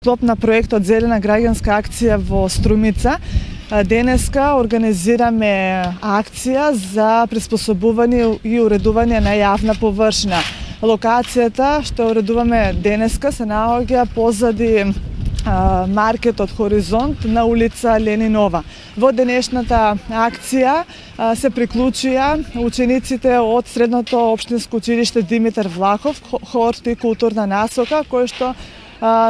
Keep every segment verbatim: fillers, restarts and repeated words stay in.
склоп на проектот Зелена граѓанска акција во Струмица, денеска организираме акција за приспособување и уредување на јавна површина. Локацијата што уредуваме денеска се наоѓа позади маркетот Хоризонт на улица Ленинова. Во денешната акција се приклучија учениците од Средното општинско училиште Димитар Влахов, хорто и културна насока, кој што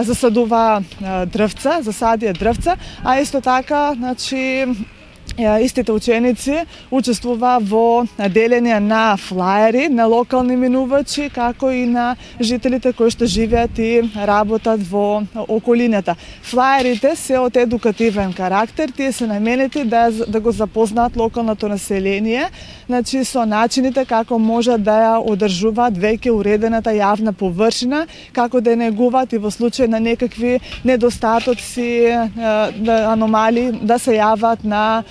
засадува дрвца, засадија дрвца, а исто така, значи, истите ученици учествува во делење на флаери на локални минувачи, како и на жителите кои што живеат и работат во околината. Флаерите се од едукативен карактер, тие се наменети да, да го запознаат локалното население, значи со начините како можат да ја одржуваат веќе уредената јавна површина, како да негуваат и во случај на некакви недостатоци, аномалии, да се јават на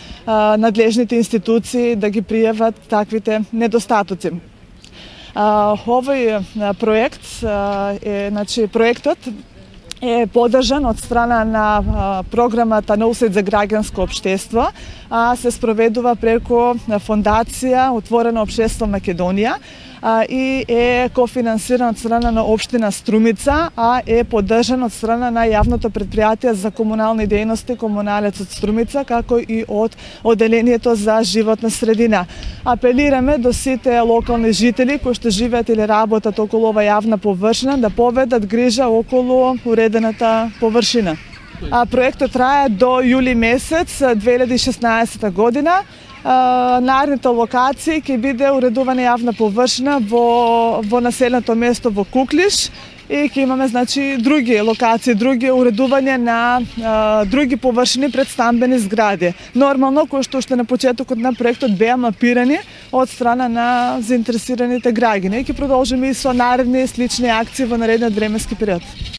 надлежните институции да ги пријават таквите недостатоци. Овој проект е, значи, проектот е поддржан од страна на програмата Ноусет за граѓанско општество, а се спроведува преку фондација Отворено општество Македонија и е кофинансиран од страна на општина Струмица, а е поддржан од страна на јавното претпријатие за комунални дејности Комуналецот Струмица, како и од Оделението за животна средина. Апелираме до сите локални жители кои што живеат или работат околу ова јавна површина да поведат грижа околу уредената површина. А проектот трае до јули месец две илјади и шеснаесетта година. Наредните локации ќе биде уредувана јавна површина во, во населеното место во Куклиш и ќе имаме, значи, други локации, други уредување на а, други површини пред стамбени згради. Нормално, кои што уште на почетокот на проектот беа мапирани од страна на заинтересираните граѓани. И ќе продолжиме и со наредни слични акции во наредниот временски период.